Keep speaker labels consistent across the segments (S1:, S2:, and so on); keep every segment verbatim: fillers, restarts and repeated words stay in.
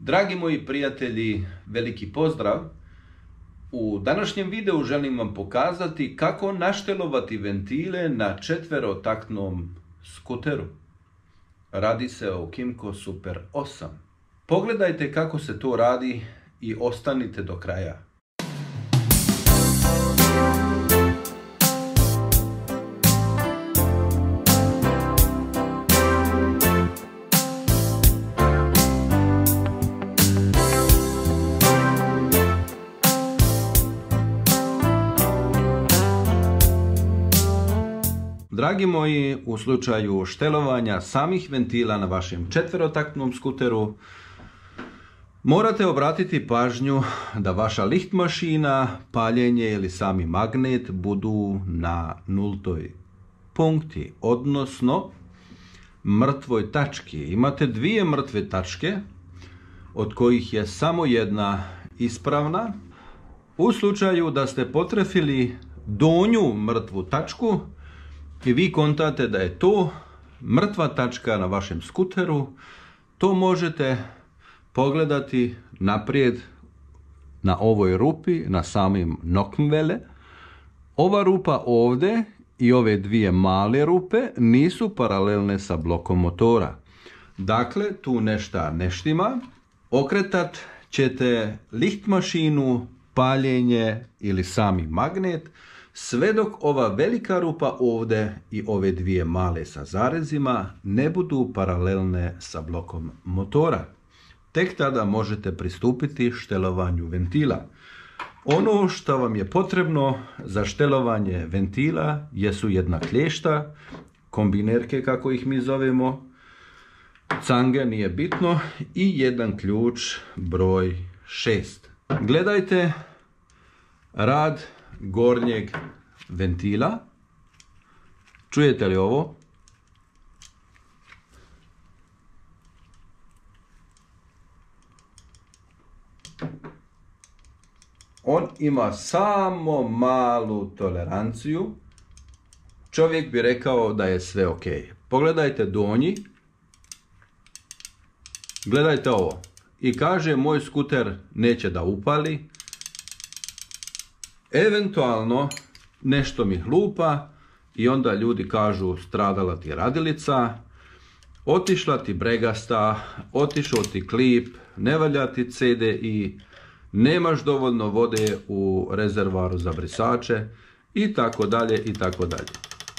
S1: Dragi moji prijatelji, veliki pozdrav. U današnjem videu želim vam pokazati kako naštelovati ventile na četverotaktnom skuteru. Radi se o Kymco Super osam. Pogledajte kako se to radi i ostanite do kraja. Dragi moji, u slučaju štelovanja samih ventila na vašem četverotaktnom skuteru, morate obratiti pažnju da vaša lift mašina, paljenje ili sami magnet budu na nultoj punkti, odnosno mrtvoj tački. Imate dvije mrtve tačke, od kojih je samo jedna ispravna. U slučaju da ste potrefili donju mrtvu tačku, i vi kontate da je to mrtva tačka na vašem skuteru, to možete pogledati naprijed na ovoj rupi, na samim nokmvele. Ova rupa ovdje i ove dvije male rupe nisu paralelne sa blokom motora. Dakle, tu nešto ne štima. Okretat ćete lift mašinu, paljenje ili sami magnet, sve dok ova velika rupa ovdje i ove dvije male sa zarezima ne budu paralelne sa blokom motora. Tek tada možete pristupiti štelovanju ventila. Ono što vam je potrebno za štelovanje ventila jesu jedna klješta, kombinerke kako ih mi zovemo, cange, nije bitno, i jedan ključ broj šest. Gledajte rad gornjeg ventila. Čujete li ovo? On ima samo malu toleranciju. Čovjek bi rekao da je sve ok. Pogledajte donji. Gledajte ovo. I kaže, moj skuter neće da upali. Eventualno nešto mi hlupa i onda ljudi kažu stradala ti radilica, otišla ti bregasta, otišao ti klip, ne valja ti C D I, nemaš dovoljno vode u rezervoaru za brisače i tako dalje i tako dalje.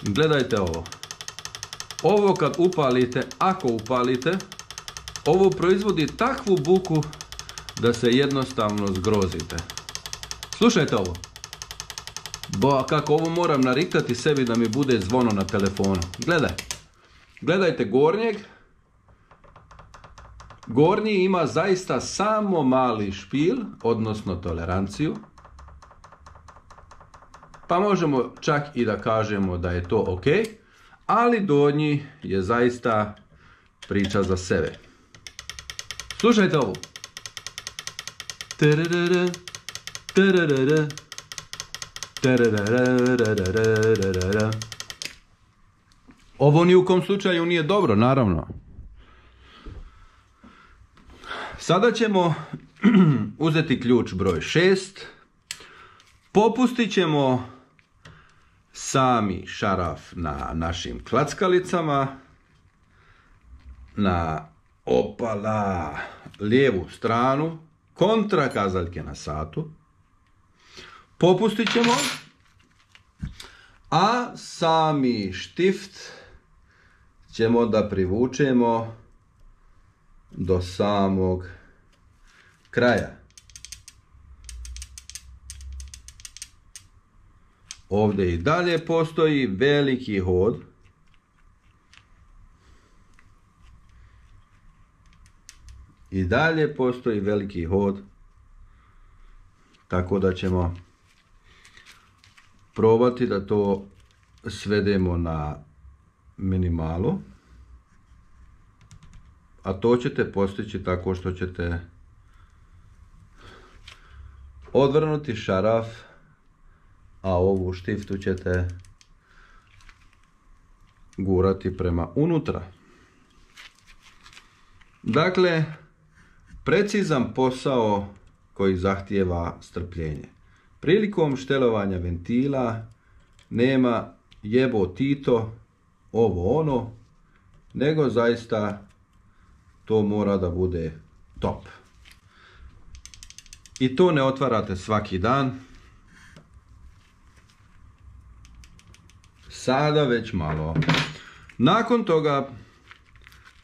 S1: Gledajte ovo. Ovo kad upalite, ako upalite, ovo proizvodi takvu buku da se jednostavno zgrozite. Slušajte ovo. Bo kako ovo moram nariktati sebi da mi bude zvono na telefonu. Gledaj. Gledajte gornjeg. Gornji ima zaista samo mali špil, odnosno toleranciju. Pa možemo čak i da kažemo da je to ok. Ali donji je zaista priča za sebe. Slušajte ovo. Tararara, tararara. Ovo ni u kom slučaju nije dobro, naravno. Sada ćemo uzeti ključ broj šest. Popustit ćemo sami šaraf na našim klackalicama. Na opala lijevu stranu. Kontra kazaljke na satu. Popustit ćemo, a sami štift ćemo da privučemo do samog kraja. Ovdje i dalje postoji veliki hod. I dalje postoji veliki hod. Tako da ćemo probati da to svedemo na minimalu, a to ćete postići tako što ćete odvrnuti šaraf, a ovu štiftu ćete gurati prema unutra. Dakle, precizan posao koji zahtijeva strpljenje. Prilikom štelovanja ventila nema jebo Tito, ovo ono, nego zaista to mora da bude top. I to ne otvarate svaki dan. Sada već malo. Nakon toga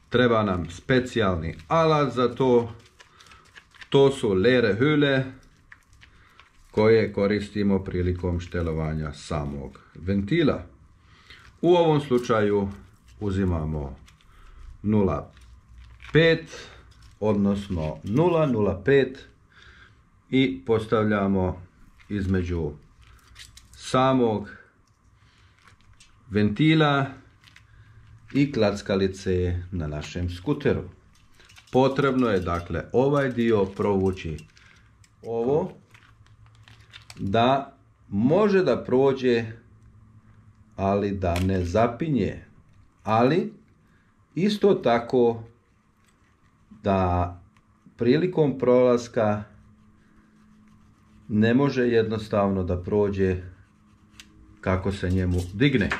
S1: treba nam specijalni alat za to. To su lerehüle koje koristimo prilikom štelovanja samog ventila. U ovom slučaju uzimamo nula zarez pet, odnosno nula zarez pet i postavljamo između samog ventila i klackalice na našem skuteru. Potrebno je dakle ovaj dio provući ovo da može da prođe, ali da ne zapinje, ali isto tako da prilikom prolaska ne može jednostavno da prođe kako se njemu digne.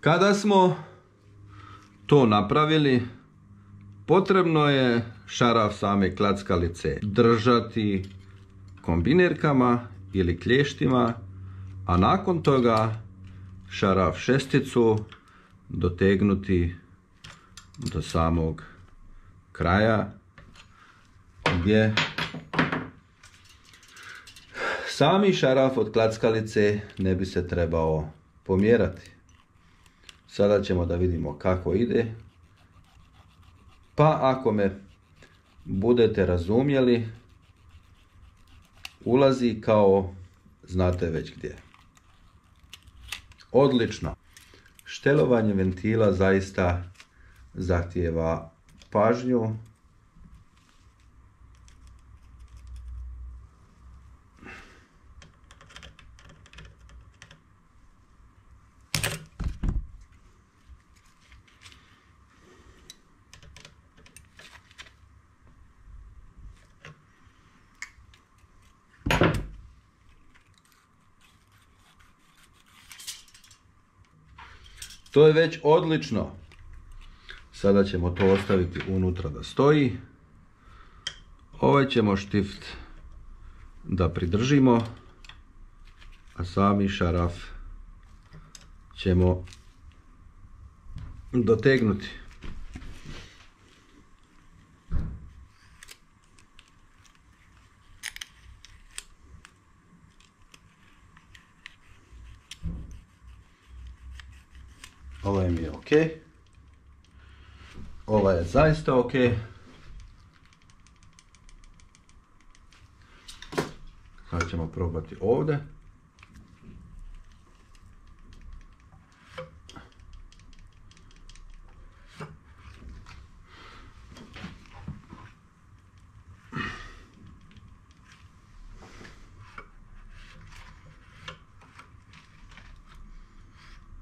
S1: Kada smo to napravili, potrebno je šaraf same klackalice držati kombinirkama ili klještima, a nakon toga šaraf šesticu dotegnuti do samog kraja gdje sami šaraf od klackalice ne bi se trebao pomjerati. Sada ćemo da vidimo kako ide. Pa ako me budete razumjeli, ulazi kao znate već gdje. Odlično. Štelovanje ventila zaista zahtijeva pažnju. To je već odlično. Sada ćemo to ostaviti unutra da stoji. Ovaj ćemo štift da pridržimo, a sami šaraf ćemo dotegnuti. Ovaj mi je ok. Ovaj je zaista ok. Sad ćemo probati ovdje.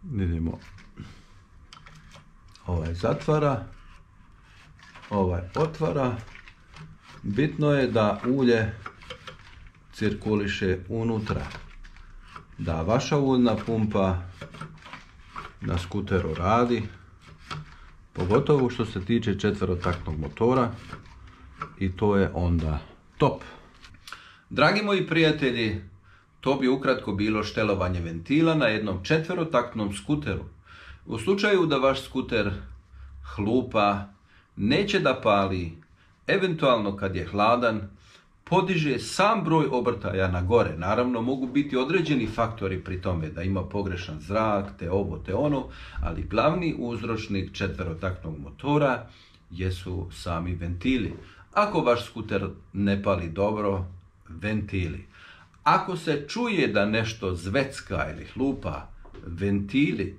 S1: Vidimo. Ovaj zatvara, ovaj otvara. Bitno je da ulje cirkuliše unutra, da vaša uljna pumpa na skuteru radi, pogotovo što se tiče četverotaktnog motora, i to je onda top. Dragi moji prijatelji, to bi ukratko bilo štelovanje ventila na jednom četverotaktnom skuteru. U slučaju da vaš skuter hlupa, neće da pali, eventualno kad je hladan, podiže sam broj obrtaja na gore. Naravno, mogu biti određeni faktori pri tome, da ima pogrešan zrak, te ovo, te ono, ali glavni uzročnik četverotaktnog motora jesu sami ventili. Ako vaš skuter ne pali dobro, ventili. Ako se čuje da nešto zvecka ili hlupa, ventili.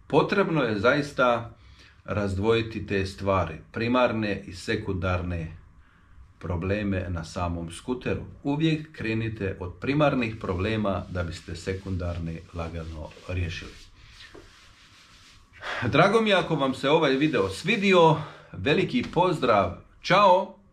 S1: Potrebno je zaista razdvojiti te stvari, primarne i sekundarne probleme na samom skuteru. Uvijek krenite od primarnih problema da biste sekundarne lagano riješili. Drago mi je ako vam se ovaj video svidio. Veliki pozdrav. Ćao!